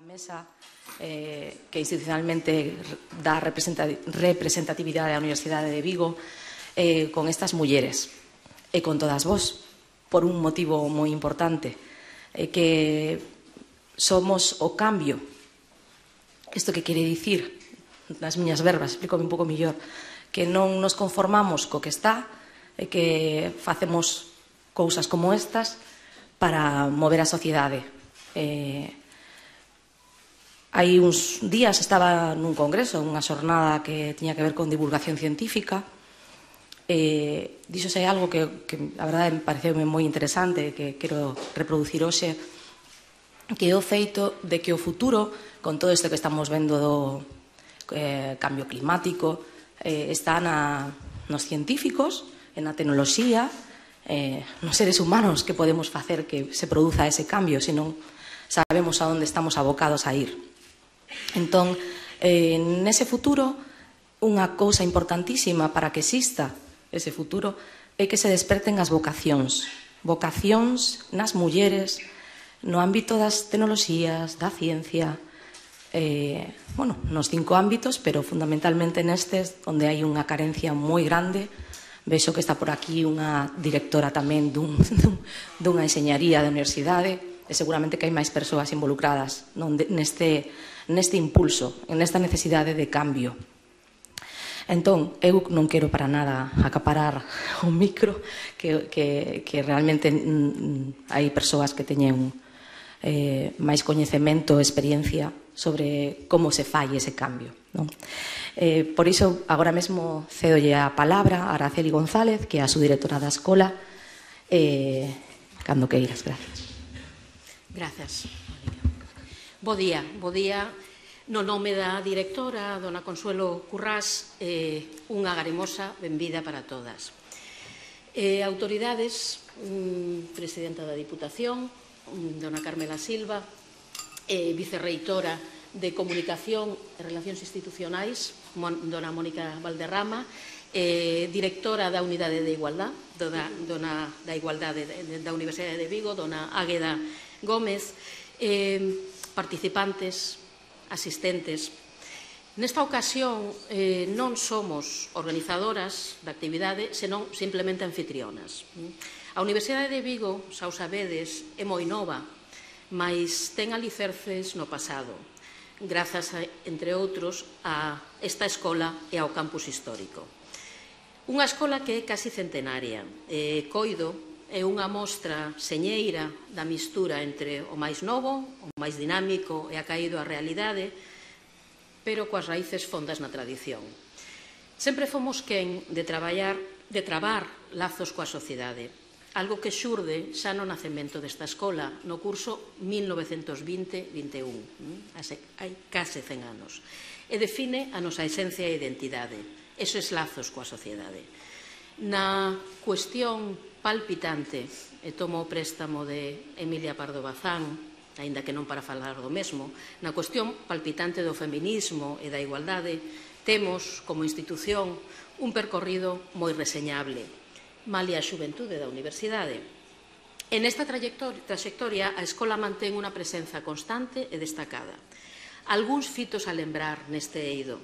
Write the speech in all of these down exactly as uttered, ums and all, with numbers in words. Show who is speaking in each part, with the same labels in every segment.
Speaker 1: Mesa eh, que institucionalmente dá representatividade á Universidade de Vigo eh, con estas mulleres e con todas vos por un motivo moi importante eh, que somos o cambio. Isto que quere dicir nas miñas verbas, explícome un pouco mellor, que non nos conformamos co que está e que facemos cousas como estas para mover a sociedade. Eh, Hai uns días estaba nun congreso, unha xornada que tiña que ver con divulgación científica, e díxose algo que, que a verdade me pareceume moi interesante, que quero reproducir hoxe, que é o feito de que o futuro, con todo isto que estamos vendo do eh, cambio climático, eh, está na, nos científicos, na tecnoloxía, eh, nos seres humanos que podemos facer que se produza ese cambio, senón sabemos a onde estamos abocados a ir. Entón, eh, nese futuro, unha cousa importantísima para que exista ese futuro é que se desperten as vocacións. Vocacións nas mulleres, no ámbito das tecnoloxías, da ciencia, eh, bueno, nos cinco ámbitos, pero fundamentalmente nestes, onde hai unha carencia moi grande. Vexo que está por aquí unha directora tamén dun, dun, dunha enxeñaría da universidade, e seguramente que hai máis persoas involucradas neste, neste impulso, nesta necesidade de cambio. Entón, eu non quero para nada acaparar o micro, que, que, que realmente mm, hai persoas que teñen eh, máis coñecemento e experiencia sobre como se fai ese cambio, non? Eh, por iso, agora mesmo cedolle a palabra a Araceli González, que é a subdirectora da escola, eh, cando queiras, gracias.
Speaker 2: Grazas. Bo día, bo día. No nome da directora, dona Consuelo Currás, eh, unha garemosa benvida para todas. Eh, autoridades, mm, presidenta da Diputación, mm, dona Carmela Silva, eh, vicerreitora de Comunicación e Relacións Institucionais, mon, dona Mónica Valderrama, eh, directora da Unidade de Igualdade, dona, dona da Igualdade de, da Universidade de Vigo, dona Águeda Gómez, eh, participantes, asistentes. Nesta ocasión eh, non somos organizadoras da actividade, senón simplemente anfitrionas. A Universidade de Vigo, xa o sabedes, é moi nova, mas ten alicerces no pasado, grazas, a, entre outros, a esta escola e ao campus histórico. Unha escola que é casi centenaria. Eh, coido é unha mostra señeira da mistura entre o máis novo, o máis dinámico e acaído á realidade, pero coas raíces fondas na tradición. Sempre fomos quen de traballar, de trabar lazos coa sociedade, algo que xurde xa no nacemento desta escola, no curso mil novecentos vinte vinte e un, hai case cen anos, e define a nosa esencia e identidade, esos lazos coa sociedade. Na cuestión palpitante, e tomo o préstamo de Emilia Pardo Bazán, aínda que non para falar do mesmo, na cuestión palpitante do feminismo e da igualdade, temos, como institución, un percorrido moi reseñable, malia a xuventude da universidade. En esta trayectoria, a escola mantén unha presenza constante e destacada. Algúns fitos a lembrar neste eido.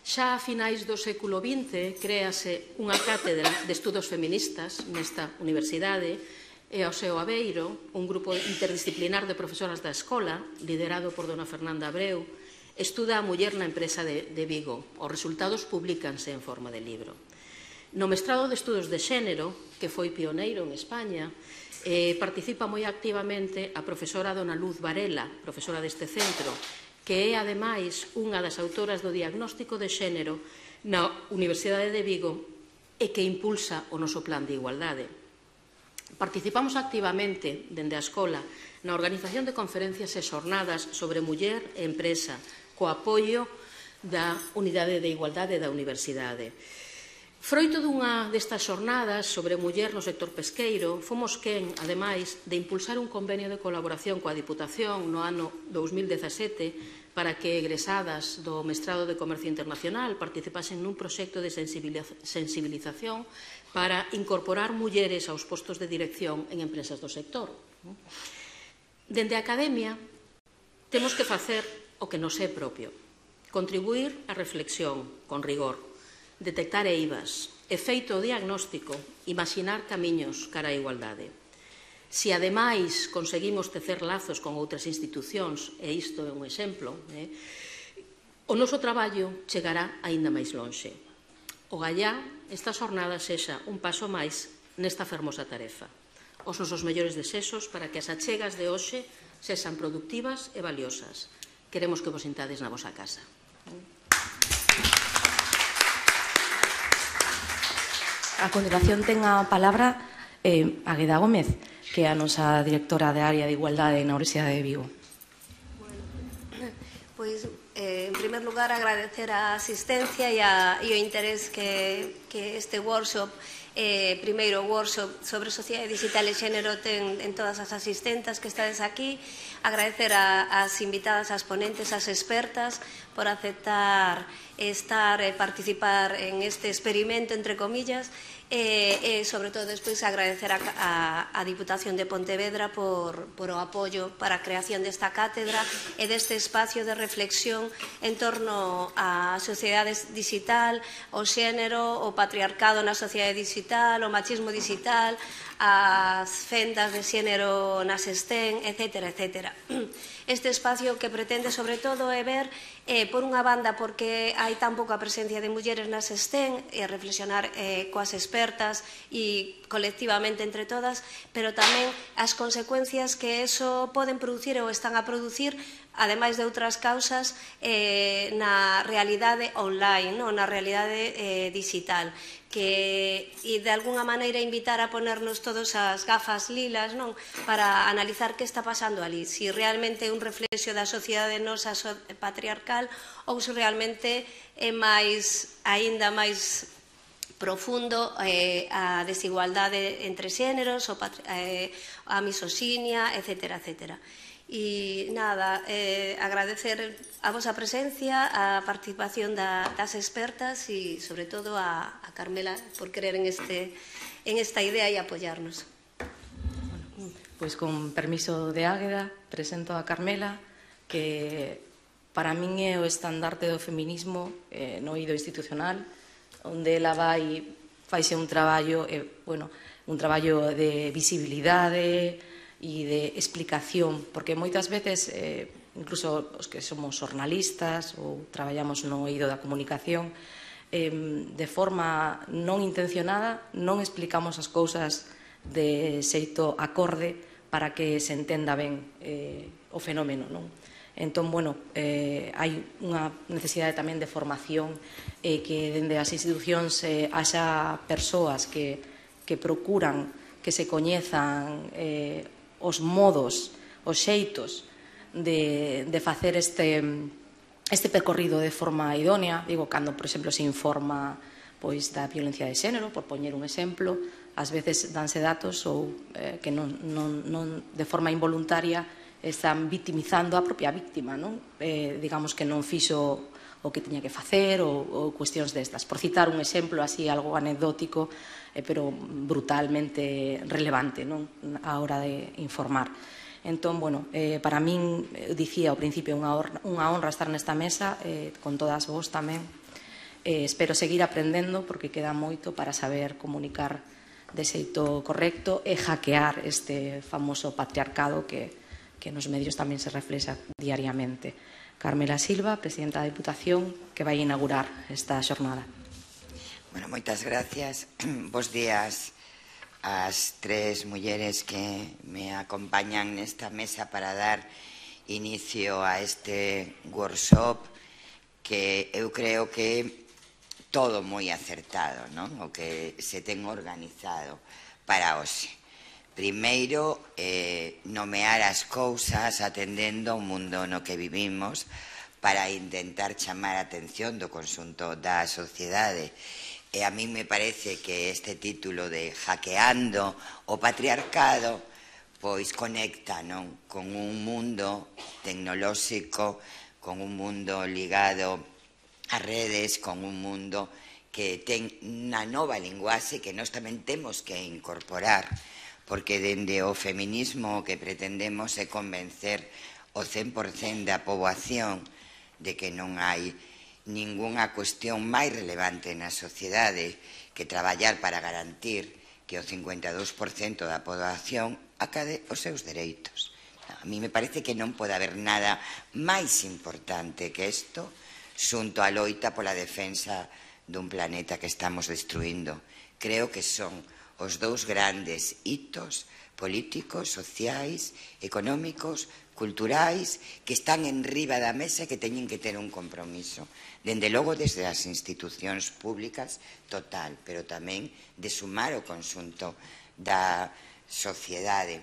Speaker 2: Xa a finais do século vinte créase unha cátedra de estudos feministas nesta universidade e ao seu abeiro un grupo interdisciplinar de profesoras da escola, liderado por dona Fernanda Abreu, estuda a muller na empresa de, de Vigo. Os resultados publícanse en forma de libro. No mestrado de estudos de xénero, que foi pioneiro en España, eh, participa moi activamente a profesora dona Luz Varela, profesora deste centro, que é, ademais, unha das autoras do diagnóstico de xénero na Universidade de Vigo e que impulsa o noso plan de igualdade. Participamos activamente, dende a escola, na organización de conferencias e xornadas sobre muller e empresa, co apoio da Unidade de Igualdade da Universidade. Froito dunha destas xornadas sobre muller no sector pesqueiro, fomos quen, ademais, de impulsar un convenio de colaboración coa Diputación no ano dous mil dezasete para que egresadas do Mestrado de Comercio Internacional participasen nun proxecto de sensibilización para incorporar mulleres aos postos de dirección en empresas do sector. Dende a Academia, Temos que facer o que nos é propio. Contribuir á reflexión, con rigor, detectar eivas, e feito o diagnóstico, imaxinar camiños cara á igualdade. Se, ademais, conseguimos tecer lazos con outras institucións, e isto é un exemplo, eh, o noso traballo chegará aínda máis lonxe. Ogallá esta xornada sexa un paso máis nesta fermosa tarefa. Os nosos mellores desexos para que as achegas de hoxe sexan productivas e valiosas. Queremos que vos sintades na vosa casa.
Speaker 1: A continuación ten a palabra eh, Águeda Gómez, que é a nosa directora de área de Igualdade na Universidade de Vigo.
Speaker 3: Bueno, pois, eh, en primer lugar, agradecer a asistencia e, a, e o interés que, que este workshop, eh, primeiro workshop sobre sociedade digital e xénero ten en todas as asistentas que estades aquí. Agradecer a, as invitadas, as ponentes, as expertas por aceptar estar e participar en este experimento, entre comillas, e, e sobre todo, despois, agradecer a, a, a Diputación de Pontevedra por, por o apoio para a creación desta cátedra e deste espacio de reflexión en torno á sociedade digital, o xénero, o patriarcado na sociedade digital, o machismo digital, as fendas de xénero nas STEM, etcétera, etcétera. Este espacio que pretende, sobre todo, é ver, eh, por unha banda, porque hai tan pouca presencia de mulleres nas STEM, e reflexionar eh, coas expertas e colectivamente entre todas, pero tamén as consecuencias que eso poden producir ou están a producir, ademais de outras causas, eh, na realidade online, no? Na realidade eh, digital, que, e de alguna maneira invitar a ponernos todos as gafas lilas, non? Para analizar que está pasando ali, si realmente é un reflexo da sociedade nosa patriarcal ou se realmente é máis, aínda máis profundo eh, a desigualdade entre xéneros, o eh, a misoxinia, etcétera, etcétera. E nada, eh, agradecer a vosa presencia, a participación da, das expertas e, sobre todo, a, a Carmela por querer en, este, en esta idea e apoiarnos.
Speaker 1: Pois, con permiso de Águeda, presento a Carmela, que para min é o estandarte do feminismo eh, no eido institucional, onde ela vai, faixe un traballo, eh, bueno, un traballo de visibilidade e de explicación, porque moitas veces, eh, incluso os que somos xornalistas ou traballamos no eido da comunicación, eh, de forma non intencionada non explicamos as cousas de xeito acorde para que se entenda ben eh, o fenómeno, non? Entón, bueno, eh, hai unha necesidade tamén de formación e eh, que dende as institucións eh, haxa persoas que, que procuran que se coñezan eh, os modos, os xeitos de, de facer este, este percorrido de forma idónea. Digo, cando, por exemplo, se informa pois, da violencia de xénero, por poñer un exemplo, ás veces danse datos ou eh, que non, non, non, de forma involuntaria están victimizando a propia víctima, non? Eh, digamos que non fixo o que tiña que facer ou, ou cuestións destas. Por citar un exemplo así, algo anecdótico, eh, pero brutalmente relevante, non? A hora de informar. Entón, bueno, eh, para min, dicía ao principio, unha honra, unha honra estar nesta mesa, eh, con todas vos tamén. Eh, espero seguir aprendendo, porque queda moito para saber comunicar de xeito correcto e hackear este famoso patriarcado que, que nos medios tamén se reflexa diariamente. Carmela Silva, presidenta da Diputación, que vai inaugurar esta xornada.
Speaker 4: Bueno, moitas gracias. Bos días ás tres mulleres que me acompañan nesta mesa para dar inicio a este workshop que eu creo que todo moi acertado, non? O que se ten organizado para hoxe. Primeiro, eh, nomear as cousas atendendo ao mundo no que vivimos para intentar chamar a atención do conxunto da sociedade. E a mí me parece que este título de Hackeando o Patriarcado pois conecta, non? Con un mundo tecnolóxico, con un mundo ligado ás redes, con un mundo que ten unha nova linguaxe que nós tamén temos que incorporar, porque dende o feminismo o que pretendemos é convencer o cen por cento da poboación de que non hai ningunha cuestión máis relevante na sociedade que traballar para garantir que o cincuenta e dous por cento da poboación acade os seus dereitos. A mí me parece que non pode haber nada máis importante que isto xunto á loita pola defensa dun planeta que estamos destruindo. Creo que son os dous grandes hitos políticos, sociais, económicos, culturais, que están en riba da mesa e que teñen que ter un compromiso. Dende logo, desde as institucións públicas, total, pero tamén de sumar o conxunto da sociedade.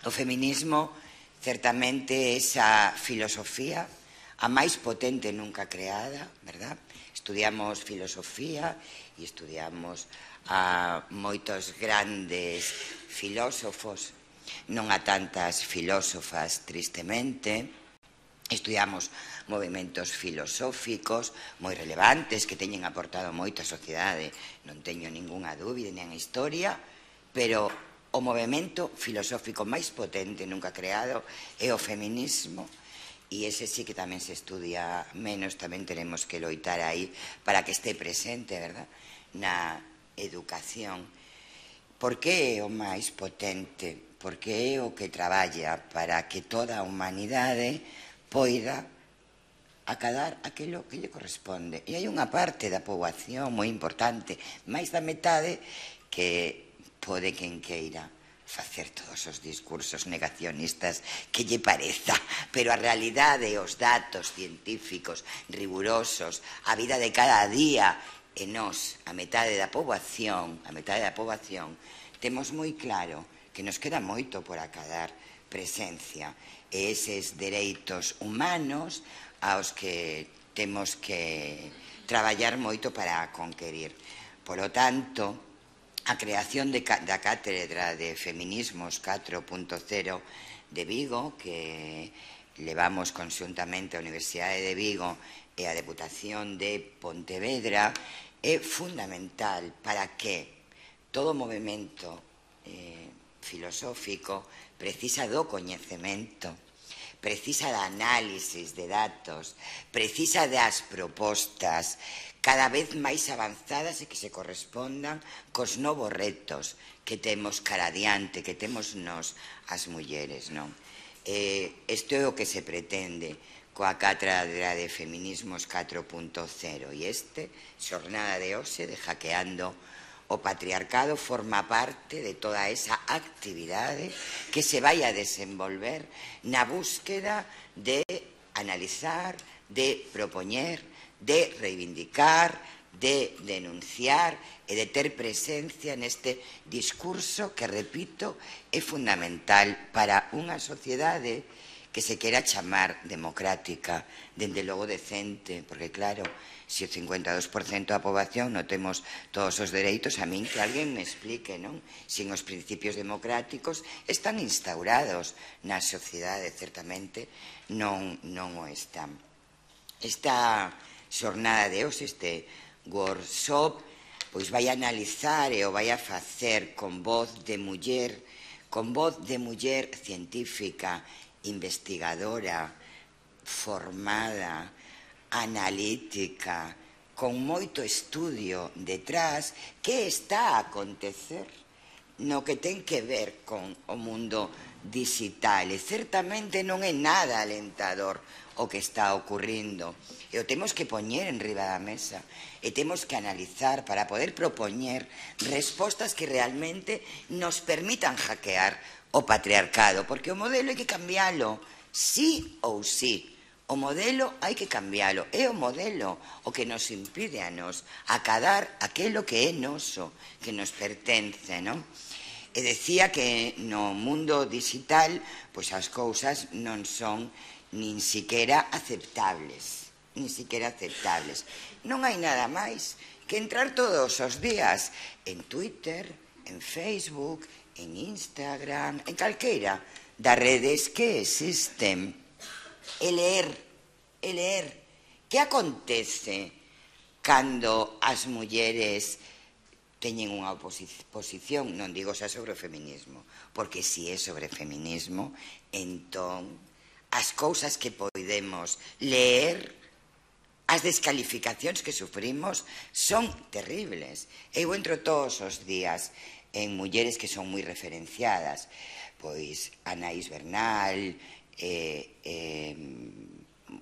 Speaker 4: O feminismo, certamente, esa filosofía a máis potente nunca creada, verdad? Estudiamos filosofía e estudiamos a moitos grandes filósofos, non a tantas filósofas, tristemente. Estudiamos movimentos filosóficos moi relevantes que teñen aportado moito á sociedade, non teño ningunha dúbida nen a historia, pero o movimento filosófico máis potente nunca creado é o feminismo, e ese sí que tamén se estudia menos, tamén tenemos que loitar aí para que este presente, verdad, na educación. Por que é o máis potente? Porque é o que traballa para que toda a humanidade poida acadar aquilo que lle corresponde. E hai unha parte da poboación moi importante, máis da metade, que pode quen queira facer todos os discursos negacionistas que lle pareza, pero a realidade e os datos científicos rigurosos, a vida de cada día, e nós, a metade da poboación, a metade da poboación, temos moi claro que nos queda moito por acadar presencia e eses dereitos humanos aos que temos que traballar moito para conquerir. Polo tanto, a creación de, da Cátedra de Feminismos catro punto cero de Vigo, que levamos conxuntamente a Universidade de Vigo e a Deputación de Pontevedra, é fundamental para que todo movimento eh, filosófico precisa do coñecemento, precisa da análisis de datos, precisa das propostas cada vez máis avanzadas e que se correspondan cos novos retos que temos cara adiante, que temos nós as mulleres, non? Eh, isto é o que se pretende coa Cátedra de Feminismos catro punto cero, e este, xornada de hoxe de Hackeando o Patriarcado, forma parte de toda esa actividade que se vai a desenvolver na búsqueda de analizar, de propoñer, de reivindicar, de denunciar e de ter presencia neste discurso que, repito, é fundamental para unha sociedade que se quera chamar democrática, dende logo decente, porque claro, se o cincuenta e dos por cento da poboación non temos todos os dereitos, a min que alguén me explique, non? Sin os principios democráticos están instaurados na sociedade, certamente non, non o están. Esta xornada de hoxe, este workshop, pois vai a analizar e o vai a facer con voz de muller, con voz de muller científica, investigadora, formada, analítica, con moito estudio detrás, que está a acontecer no que ten que ver con o mundo digital. E certamente non é nada alentador o que está ocurrindo. E o temos que poñer en riba da mesa e temos que analizar para poder propoñer respostas que realmente nos permitan hackear o patriarcado, porque o modelo hai que cambiálo, sí ou sí. O modelo hai que cambiálo, é o modelo o que nos impide a nos acadar aquilo que é noso, que nos pertence, non? E decía que no mundo digital, pois as cousas non son nin siquiera aceptables, nin siquiera aceptables. Non hai nada máis que entrar todos os días en Twitter, en Facebook, en Instagram, en calqueira das redes que existen, e ler, e ler que acontece cando as mulleres teñen unha oposición, non digo xa sobre o feminismo, porque se é sobre o feminismo, entón as cousas que podemos ler, as descalificacións que sufrimos son terribles. Eu entro todos os días en mulleres que son moi referenciadas, pois Anaís Bernal, eh, eh,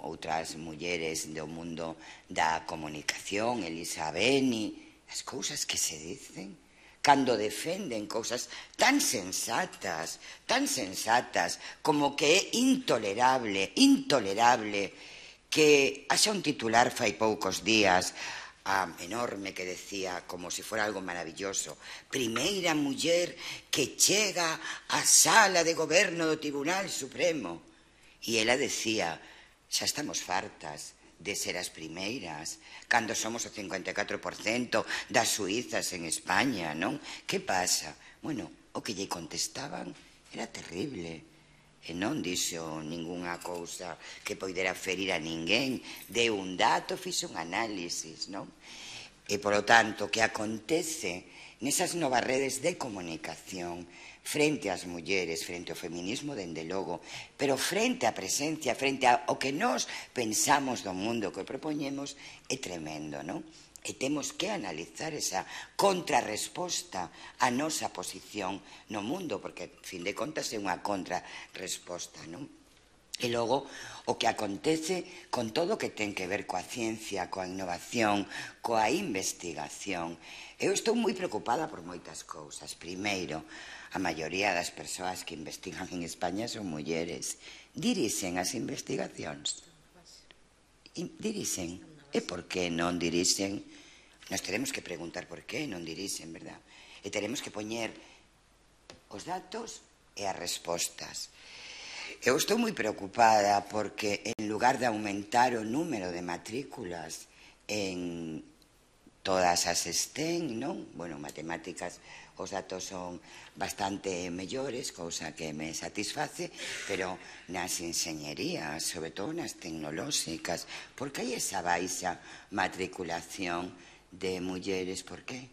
Speaker 4: outras mulleres do mundo da comunicación, Elisa Beni, as cousas que se dicen cando defenden cousas tan sensatas, tan sensatas, como que é intolerable, intolerable que haxa un titular fai poucos días enorme que decía, como se fora algo maravilloso, primeira muller que chega á sala de goberno do Tribunal Supremo. E ela decía, xa estamos fartas de ser as primeiras, cando somos o cincuenta e catro por cento das suizas en España, non? Que pasa? Bueno, o que lle contestaban era terrible. E non dixo ningunha cousa que poidera ferir a ninguén, deu un dato, fixo un análisis, non? E, polo tanto, que acontece nesas novas redes de comunicación frente ás mulleres, frente ao feminismo, dende logo, pero frente á presencia, frente ao que nós pensamos do mundo que propoñemos, é tremendo, non? E temos que analizar esa contrarresposta á nosa posición no mundo, porque, a fin de contas, é unha contrarresposta, non? E logo, o que acontece con todo o que ten que ver coa ciencia, coa innovación, coa investigación. Eu estou moi preocupada por moitas cousas. Primeiro, a maioría das persoas que investigan en España son mulleres. Dirixen as investigacións. Dirixen. E por que non dirixen? Nos teremos que preguntar por que non dirixen, verdad? E teremos que poñer os datos e as respostas. Eu estou moi preocupada porque en lugar de aumentar o número de matrículas en todas as STEM, non? Bueno, matemáticas, os datos son bastante mellores, cousa que me satisface, pero nas enxeñerías, sobre todo nas tecnolóxicas, por que hai esa baixa matriculación de mulleres? Por qué?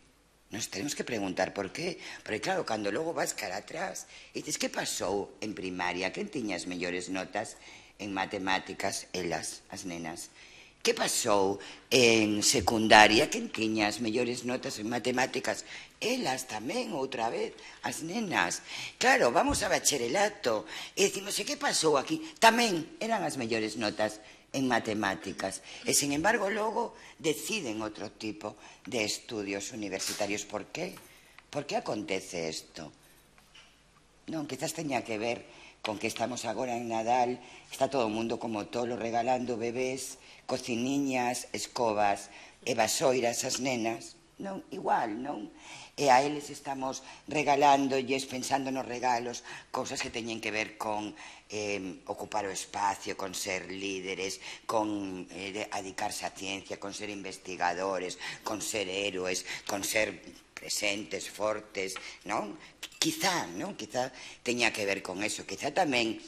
Speaker 4: Nos tenemos que preguntar por qué. Porque claro, cando logo vas cara atrás e dices, que pasou en primaria? Quen tiña as mellores notas en matemáticas? Elas, as nenas. Que pasou en secundaria? Quen tiña as mellores notas en matemáticas? Elas tamén, outra vez, as nenas. Claro, vamos a bacharelato e decimos, e que pasou aquí? Tamén eran as mellores notas en matemáticas. E, sin embargo, logo deciden outro tipo de estudios universitarios. Por qué? Por que acontece isto? Non, quizás teña que ver con que estamos agora en Nadal, está todo o mundo como tolo regalando bebés, cociniñas, escobas e vasoiras ás nenas. Non, igual, non? E a eles estamos regalándolles, pensando nos regalos, cousas que teñen que ver con eh, ocupar o espacio, con ser líderes, con eh, dedicarse á ciencia, con ser investigadores, con ser héroes, con ser presentes, fortes, non? Quizá, non? Quizá teña que ver con eso, quizá tamén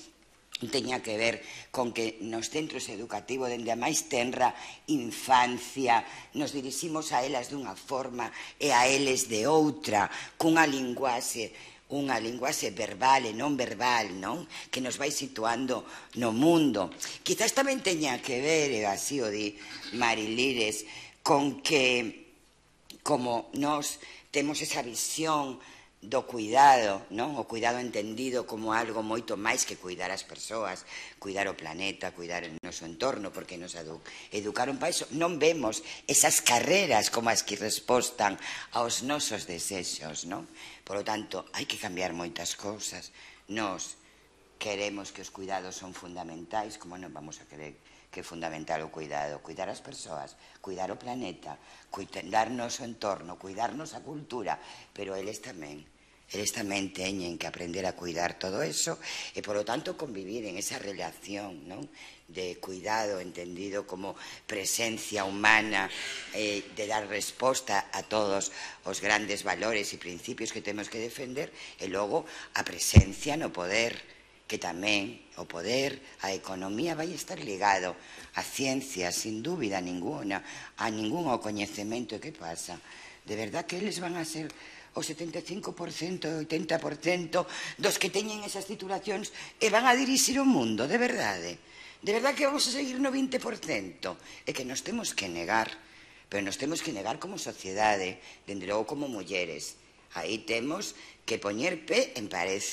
Speaker 4: teña que ver con que nos centros educativos dende a máis tenra infancia nos diriximos a elas dunha forma e a eles de outra, cunha linguaxe unha linguaxe verbal e non verbal, non? Que nos vai situando no mundo. Quizás tamén teña que ver, e así o di Marilires, con que como nos temos esa visión do cuidado, non? O cuidado entendido como algo moito máis que cuidar as persoas, cuidar o planeta, cuidar o noso entorno, porque nos educaron para iso. Non vemos esas carreras como as que respostan aos nosos desexos, non? Por lo tanto, hai que cambiar moitas cousas. Nos queremos que os cuidados son fundamentais, como non vamos a querer que é fundamental o cuidado? Cuidar as persoas, cuidar o planeta, cuidarnos o entorno, cuidarnos a cultura, pero eles tamén, eles tamén teñen que aprender a cuidar todo eso e, por lo tanto, convivir en esa relación, non? De cuidado entendido como presencia humana, eh, de dar resposta a todos os grandes valores e principios que temos que defender e logo a presencia no poder, que tamén o poder, a economía vai estar ligado a ciencia, sin dúbida ninguna, a ningún ao coñecemento. E que pasa? De verdad que eles van a ser o setenta e cinco por cento, oitenta por cento dos que teñen esas titulacións e van a dirixir o mundo, de verdade. De verdade que vamos a seguir no vinte por cento. É que nos temos que negar, pero nos temos que negar como sociedade, dende logo como mulleres. Aí temos que poñer pé en pared.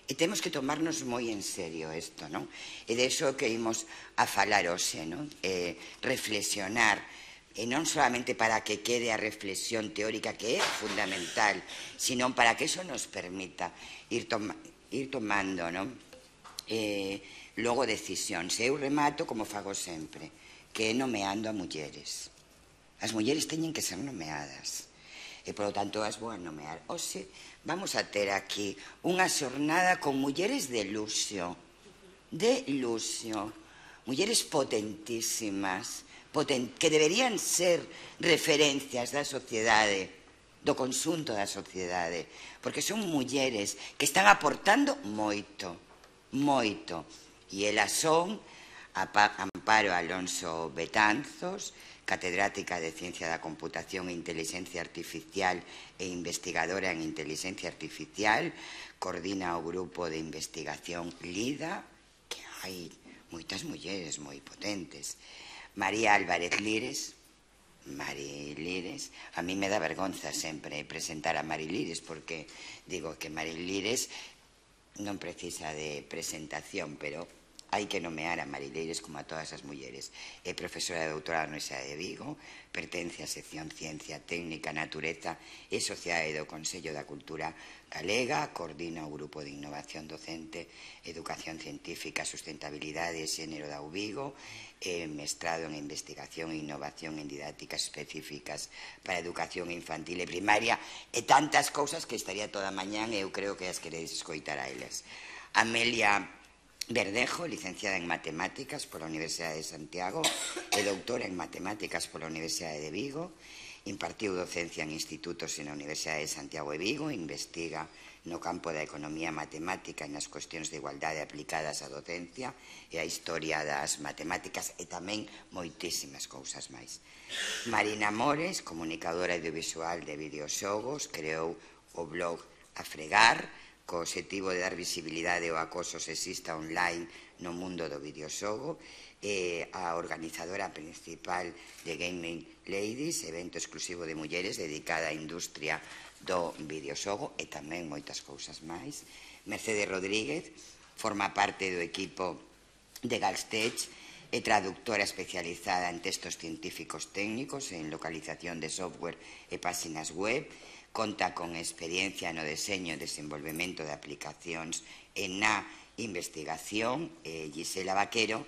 Speaker 4: E temos que tomarnos moi en serio isto, non? E de iso que imos a falar hoxe, non? Eh, reflexionar, e non solamente para que quede a reflexión teórica que é fundamental, sino para que iso nos permita ir, toma, ir tomando, non? Eh, logo decisións. Eu remato como fago sempre, que é nomeando a mulleres. As mulleres teñen que ser nomeadas. E, polo tanto, as vou a nomear. Oxe, vamos a ter aquí unha xornada con mulleres de luxo, de luxo, mulleres potentísimas, poten que deberían ser referencias da sociedade, do conxunto da sociedade, porque son mulleres que están aportando moito, moito. E elas son Amparo Alonso Betanzos, catedrática de Ciencia da Computación e Inteligencia Artificial e investigadora en Inteligencia Artificial, coordina o grupo de investigación LIDA, que hai moitas mulleres moi potentes. María Álvarez Lires, Mari Lires, a mí me dá vergonza sempre presentar a Mari Lires, porque digo que Mari Lires non precisa de presentación, pero hai que nomear a Mari Lires como a todas as mulleres. É profesora de doutorado na Universidade de Vigo, pertence á sección Ciencia Técnica, Natureza e Sociedade do Consello da Cultura Galega, coordina o Grupo de Innovación Docente, Educación Científica, Sustentabilidade e Xénero da U Vigo, e mestrado en Investigación e Innovación en Didácticas Específicas para Educación Infantil e Primaria, e tantas cousas que estaría toda a mañán e eu creo que as queredes escoitar a elas. Amelia Verdejo, licenciada en Matemáticas pola Universidade de Santiago e doutora en Matemáticas pola Universidade de Vigo, impartiu docencia en institutos e na Universidade de Santiago e Vigo, investiga no campo da economía matemática e nas cuestións de igualdade aplicadas á docencia e a historia das matemáticas e tamén moitísimas cousas máis. Marina Mores, comunicadora audiovisual de videoxogos, creou o blog A Fregar, co obxectivo de dar visibilidade ao acoso sexista online no mundo do videoxogo, e a organizadora principal de Gaming Ladies, evento exclusivo de mulleres dedicada á industria do videoxogo e tamén moitas cousas máis. Mercedes Rodríguez forma parte do equipo de Galstech, é traductora especializada en textos científicos técnicos en localización de software e páxinas web, conta con experiencia no deseño e desenvolvemento de aplicacións e na investigación. eh, Gisela Vaquero,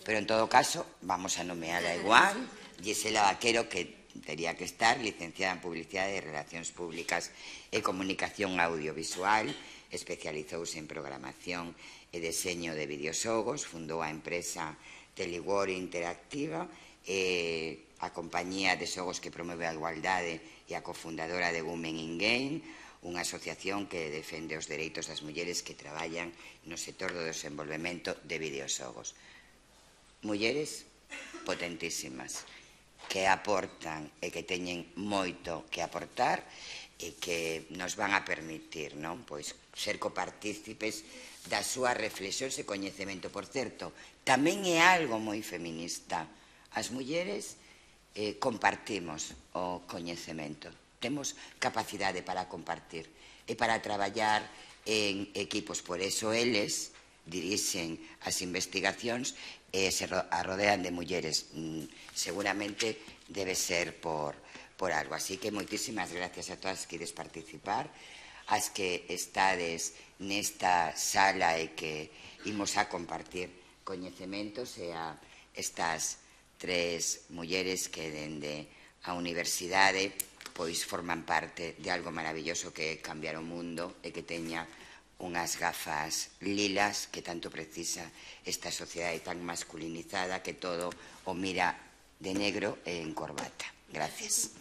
Speaker 4: pero en todo caso vamos a nomearla igual. Gisela Vaquero, que tería que estar, licenciada en Publicidade e Relacións Públicas e Comunicación Audiovisual, especializouse en programación e deseño de videoxogos, fundou a empresa Teliwor Interactiva e a compañía de xogos que promove a igualdade e a cofundadora de Women in Game, unha asociación que defende os dereitos das mulleres que traballan no sector do desenvolvemento de videoxogos. Mulleres potentísimas, que aportan e que teñen moito que aportar e que nos van a permitir, non? Pois ser copartícipes das súas reflexións e coñecemento. Por certo, tamén é algo moi feminista. As mulleres eh, compartimos o coñecemento, temos capacidade para compartir e para traballar en equipos. Por eso eles dirixen as investigacións e se arrodean de mulleres. Mm, seguramente debe ser por, por algo. Así que moitísimas gracias a todas que ides participar, as que estades nesta sala e que imos a compartir coñecementos, e a estas tres mulleres que dende a universidade pois forman parte de algo maravilloso que é cambiar o mundo e que teña unhas gafas lilas que tanto precisa esta sociedade tan masculinizada que todo o mira de negro e en corbata. Gracias.